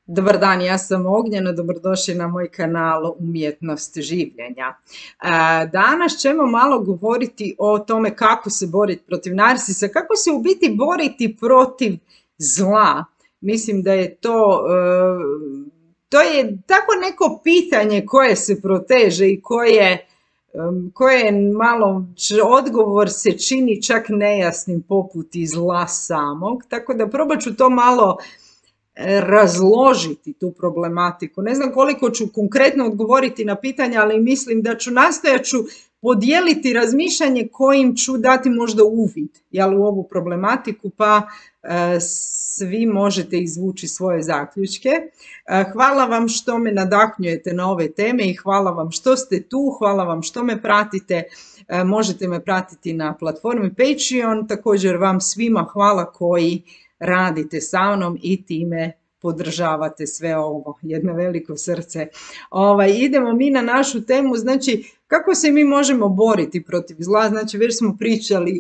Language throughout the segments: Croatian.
Dobar dan, ja sam Ognjena, dobrodošli na moj kanal Umjetnost življenja. Danas ćemo malo govoriti o tome kako se boriti protiv narsisa, kako se u biti boriti protiv zla. Mislim da je to je tako neko pitanje koje se proteže i koje malo odgovor se čini čak nejasnim poput i zla samog, tako da probat ću to malo razložiti tu problematiku. Ne znam koliko ću konkretno odgovoriti na pitanja, ali mislim da nastojat ću podijeliti razmišljanje kojim ću dati možda uvid u ovu problematiku, pa svi možete izvući svoje zaključke. Hvala vam što me nadahnjujete na ove teme i hvala vam što ste tu, hvala vam što me pratite. Možete me pratiti na platformi Patreon, također vam svima hvala koji radite sa mnom i time podržavate sve ovo, jedno veliko srce. Idemo mi na našu temu, znači kako se mi možemo boriti protiv zla, znači već smo pričali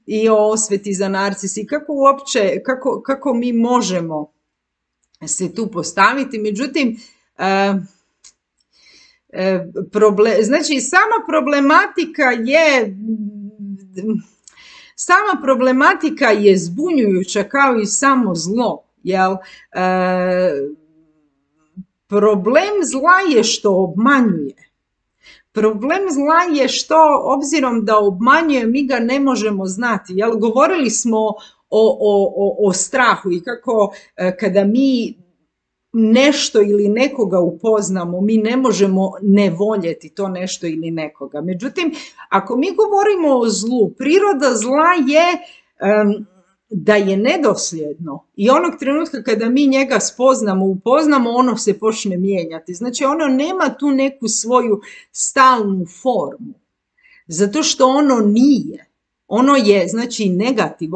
i o osveti za narcis i kako mi možemo se tu postaviti, međutim, znači sama problematika je zbunjujuća kao i samo zlo, jel? Problem zla je što obmanjuje. Problem zla je što, obzirom da obmanjuje, mi ga ne možemo znati, jel? Govorili smo o strahu i kako kada mi nešto ili nekoga upoznamo, mi ne možemo ne voljeti to nešto ili nekoga. Međutim, ako mi govorimo o zlu, priroda zla je da je nedosljedno i onog trenutka kada mi njega upoznamo, ono se počne mijenjati. Znači, ono nema tu neku svoju stalnu formu, zato što ono nije. Ono je, znači, negativ,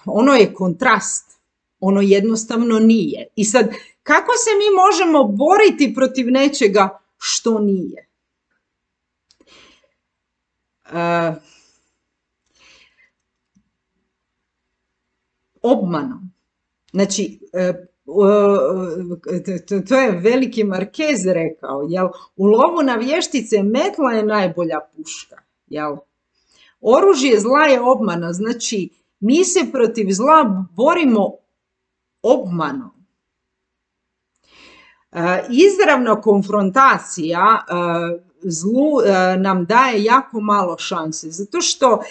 ono je kontrast. Ono jednostavno nije. I sad, kako se mi možemo boriti protiv nečega što nije? Obmanom. Znači, to je veliki Marquez rekao, jel? U lovu na vještice metla je najbolja puška, jel? Oružje zla je obmana, znači mi se protiv zla borimo obmanom. Izravna konfrontacija zlu nam daje jako malo šanse, zato što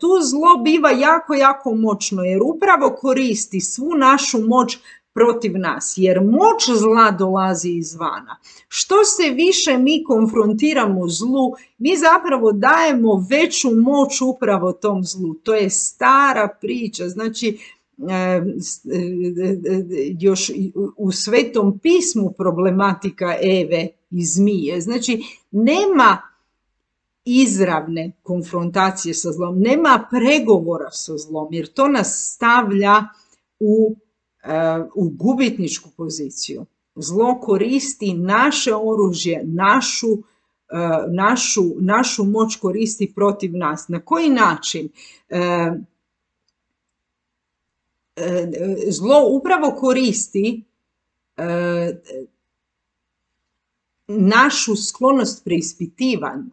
tu zlo biva jako moćno, jer upravo koristi svu našu moć protiv nas, jer moć zla dolazi izvana. Što se više mi konfrontiramo zlu, mi zapravo dajemo veću moć upravo tom zlu. To je stara priča, znači još u Svetom pismu problematika Eve i zmije. Znači, nema izravne konfrontacije sa zlom, nema pregovora sa zlom, jer to nas stavlja u gubitničku poziciju. Zlo koristi naše oružje, našu moć koristi protiv nas. Na koji način? Zlo upravo koristi našu sklonost preispitivanju.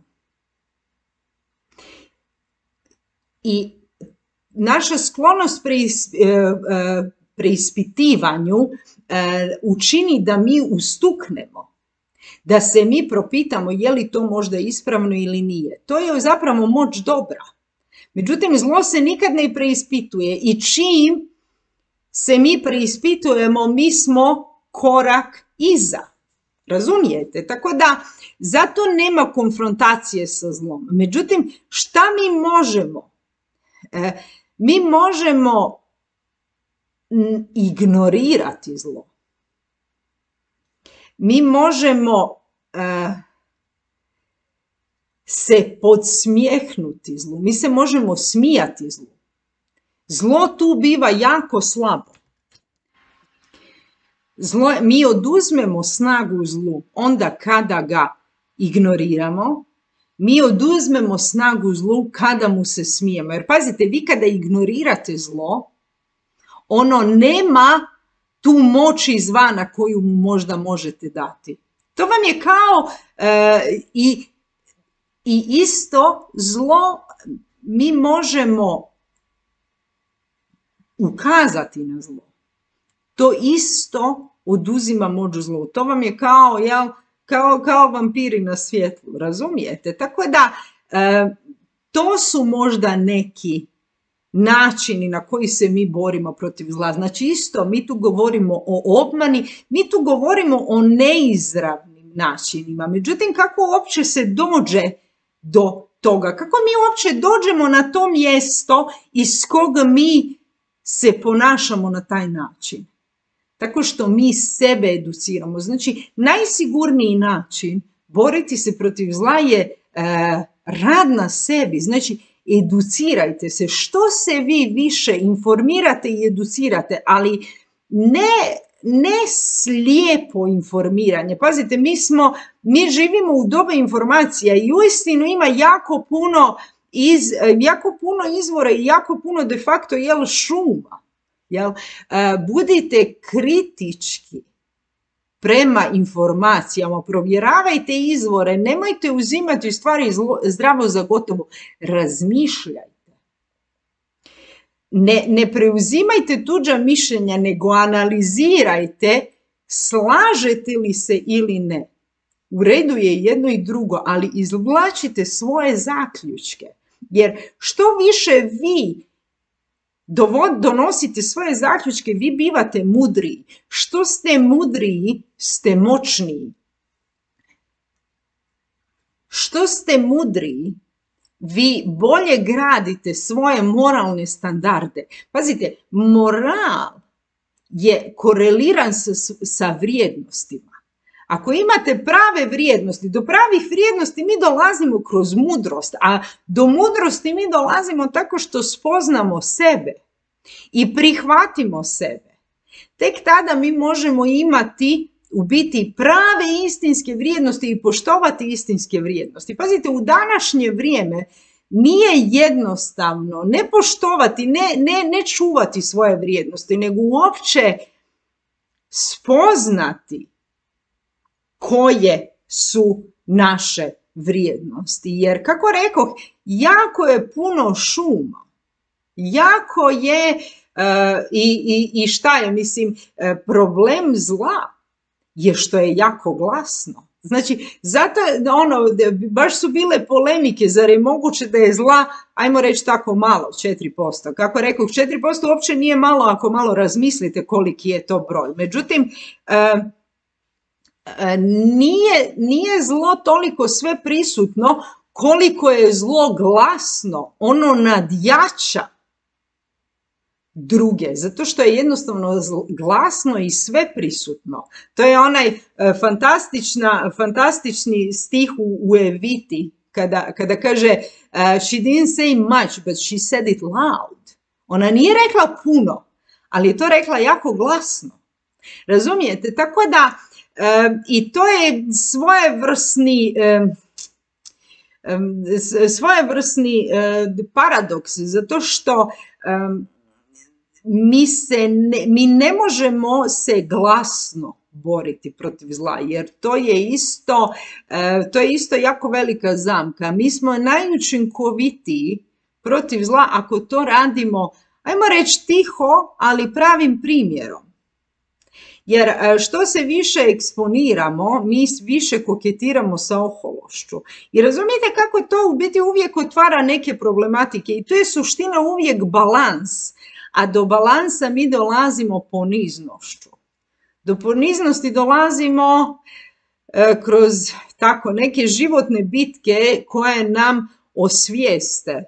I naša sklonost preispitivanju učini da mi ustuknemo, da se mi propitamo je li to možda ispravno ili nije. To je zapravo moć dobra. Međutim, zlo se nikad ne preispituje i čim se mi preispitujemo, mi smo korak iza. Razumijete? Tako da, zato nema konfrontacije sa zlom. Međutim, šta mi možemo? Mi možemo ignorirati zlo. Mi možemo se podsmjehnuti zlu. Mi se možemo smijati zlu. Zlo tu biva jako slabo. Mi oduzmemo snagu zlu onda kada ga ignoriramo, mi oduzmemo snagu zlu kada mu se smijemo. Jer pazite, vi kada ignorirate zlo, ono nema tu moć izvana koju mu možda možete dati. To vam je kao i isto zlo mi možemo ukazati na zlo. To isto oduzima moć zlu. To vam je kao vampiri na svjetlu, razumijete? Tako da to su možda neki načini na koji se mi borimo protiv zla. Znači isto, mi tu govorimo o obmani, mi tu govorimo o neizravnim načinima. Međutim, kako uopće se dođe do toga? Kako mi uopće dođemo na to mjesto iz koga mi se ponašamo na taj način? Tako što mi sebe educiramo. Znači, najsigurniji način boriti se protiv zla je rad na sebi. Znači, educirajte se. Što se vi više informirate i educirate, ali ne slijepo informiranje. Pazite, mi živimo u doba informacija i uistinu ima jako puno izvora i jako puno de facto šuma. Budite kritički prema informacijama, provjeravajte izvore, nemojte uzimati stvari zdravo za gotovo, razmišljajte. Ne preuzimajte tuđa mišljenja, nego analizirajte slažete li se ili ne. U redu je jedno i drugo, ali izvlačite svoje zaključke, jer što više vi donosite svoje zaključke, vi bivate mudriji. Što ste mudriji, ste moćniji. Što ste mudriji, vi bolje gradite svoje moralne standarde. Pazite, moral je koreliran sa vrijednostima. Ako imate prave vrijednosti, do pravih vrijednosti mi dolazimo kroz mudrost, a do mudrosti mi dolazimo tako što spoznamo sebe i prihvatimo sebe. Tek tada mi možemo imati u biti prave istinske vrijednosti i poštovati istinske vrijednosti. Pazite, u današnje vrijeme nije jednostavno ne poštovati, ne čuvati svoje vrijednosti, nego uopće spoznati koje su naše vrijednosti. Jer, kako rekoh, jako je puno šuma. Jako je, i šta je, mislim, problem zla je što je jako glasno. Znači, zato, baš su bile polemike, zar je moguće da je zla, ajmo reći tako malo, 4%. Kako rekoh, 4% uopće nije malo ako malo razmislite koliki je to broj. Međutim, nije zlo toliko sve prisutno koliko je zlo glasno, ono nadjača druge, zato što je jednostavno glasno i sve prisutno. To je onaj fantastični stih u Eviti, kada kaže she didn't say much, but she said it loud. Ona nije rekla puno, ali je to rekla jako glasno. Razumijete? Tako da i to je svojevrsni paradoks, zato što mi ne možemo se glasno boriti protiv zla, jer to je isto jako velika zamka. Mi smo najučinkovitiji protiv zla ako to radimo, ajmo reći tiho, ali pravim primjerom. Jer što se više eksponiramo, mi više koketiramo sa ohološću. I razumijete kako to u biti uvijek otvara neke problematike i to je suština uvijek balans. A do balansa mi dolazimo poniznošću. Do poniznosti dolazimo kroz tako neke životne bitke koje nam osvijeste,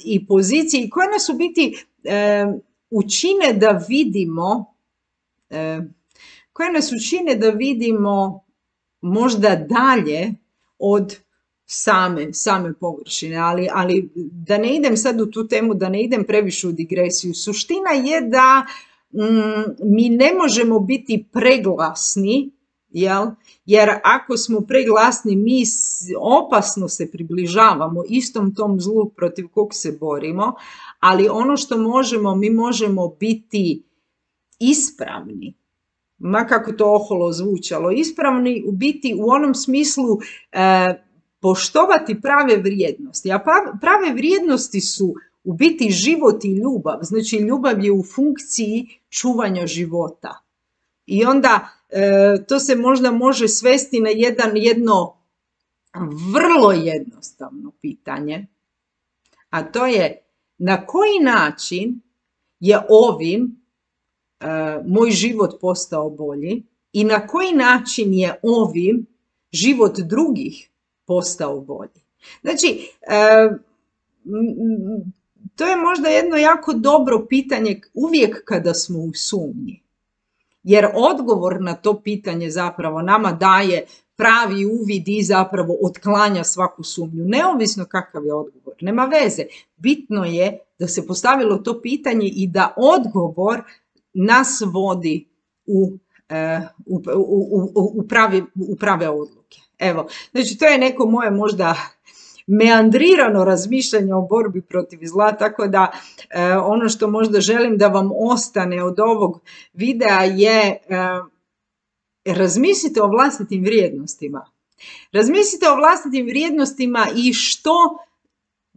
i pozicije, koje nas u biti učine da vidimo možda dalje od same površine, ali da ne idem sad u tu temu, da ne idem previše u digresiju. Suština je da mi ne možemo biti preglasni jel? Jer ako smo preglasni, mi opasno se približavamo istom tom zlu protiv kog se borimo, ali ono što možemo, mi možemo biti ispravni, ma kako to oholo zvučalo, ispravni u biti u onom smislu poštovati prave vrijednosti. A prave vrijednosti su u biti život i ljubav. Znači ljubav je u funkciji čuvanja života. I onda to se možda može svesti na jedno vrlo jednostavno pitanje, a to je na koji način je ovim moj život postao bolji i na koji način je ovim život drugih postao bolji. Znači, to je možda jedno jako dobro pitanje uvijek kada smo u sumnji. Jer odgovor na to pitanje zapravo nama daje pravi uvid i zapravo otklanja svaku sumnju. Neovisno kakav je odgovor, nema veze. Bitno je da se postavilo to pitanje i da odgovor nas vodi u prave odluke. Evo, znači to je neko moje možda meandrirano razmišljanje o borbi protiv zla, tako da ono što možda želim da vam ostane od ovog videa je razmislite o vlastitim vrijednostima. Razmislite o vlastitim vrijednostima i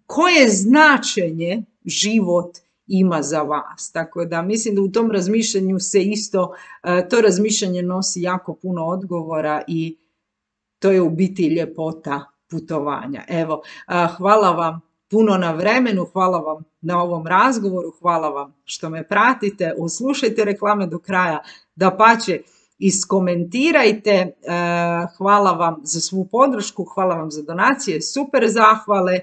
koje značenje život ima za vas. Tako da mislim da u tom razmišljanju se isto, to razmišljanje nosi jako puno odgovora i to je u biti ljepota putovanja. Evo, hvala vam puno na vremenu, hvala vam na ovom razgovoru, hvala vam što me pratite, oslušajte reklame do kraja, dapače, iskomentirajte, hvala vam za svu podršku, hvala vam za donacije, super zahvale,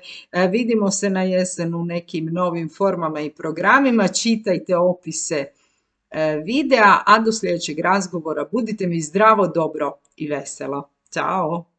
vidimo se na jesen u nekim novim formama i programima, čitajte opise videa, a do sljedećeg razgovora budite mi zdravo, dobro i veselo. Ćao!